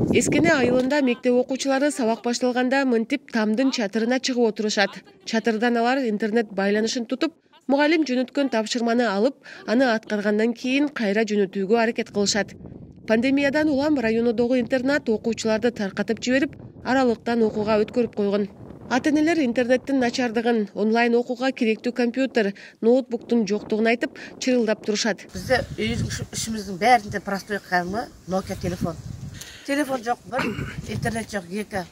Эскене айылында мектеп окуучулары сабак башталганда мынтип тамдын чатырына чыгып отурушат. Чатырдан алар интернет байланышын тутуп, мугалим жөнөткөн тапшырманы алып, аны аткаргандан кийин кайра жөнөтүүгө аракет кылышат. Пандемиядан улам районундогу интернат окуучуларды таркатып жиберип, аралыктан окууга өткөрүп койгон. Ата-энелер интернеттин начардыгын, онлайн окууга керектүү компьютер, ноутбуктун жоктугун айтып, чырылдап турушат. Бизде ишимиздин баарында простой калмы Nokia телефон. Телефон жок бир, интернет жок эки.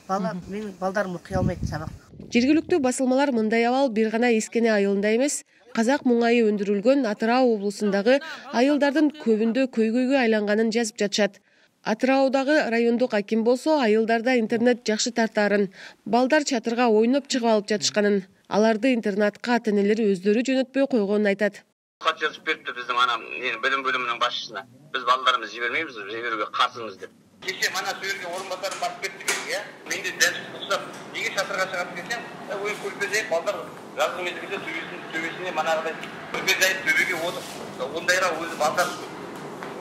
Менин балдарым окуй алмайт сабак. Жергиликтүү басылмалар мындай абал бир гана Эскене айылында эмес, казак муңайы өндүрүлгөн Атырау облусундагы айылдардын көбүндө көйгөйгө айланганын жазып жатышат. Атыраудагы райондук аким болсо айылдарда интернет жакшы тартаарын, балдар чатырга ойноп чыгып алып жатышканын, аларды интернатка ата-энелери өздөрү жөнөтпөй койгонун айтат. Кат жазып берипти биздин билим бөлүмүнүн башчысына. Биз балдарыбызды жибермейбиз, жиберүүгө каршыбыз деп. Кеше мана суу жерге орун басарым барып кетти, менде дәл кылсап, неге чатырга чыгат десем, ой көрпөзөй балдар жазгы мезгилде төбөсүнө манагыдай көрпөзөй төбөгө отуруп, ондайга өзү балдар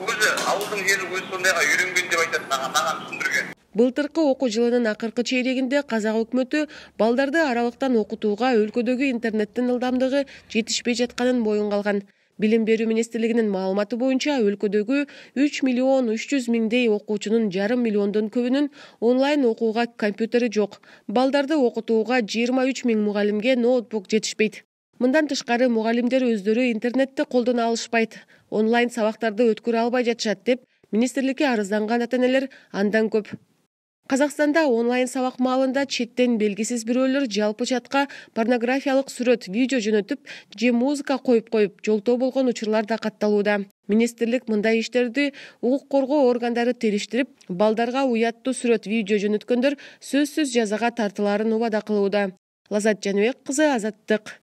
өзү ауылдың жери өзү сондайга үйрөнгөн деп айтат, мага түшүндүргөн. Былтыркы окуу жылынын акыркы чейрегинде казак өкмөтү балдарды аралыктан окутууга өлкөдөгү интернеттин ылдамдыгы жетишпей жатканын моюнга алган. Билим берүү министрлигинин маалыматы боюнча өлкөдөгү 3.300.000 окуучунун 5,5 миллиондон көбүнүн онлайн окууга компьютери жок. Балдарды окутууга 23.000 мугалимге ноутбук жетишпейт. Мындан тышкары мугалимдер өздөрү интернетти колдоно алышпайт, онлайн сабактарды өткөрө албай жатышат деп министрликке арызданган ата-энелер андан көп. Казакстанда онлайн сабак маалында четтен белгисиз бирөөлөр жалпы чатка порнографиялык сүрөт, видео жөнөтүп же музыка коюп жолтоо болгон учурлар да катталууда. Министрлик мындай иштерди укук коргоо органдары териштирип, балдарга уяттуу сүрөт, видео жөнөткөндөр сөзсүз жазага тартылаарын убада кылууда. Лазат Жаныбек кызы, Азаттык.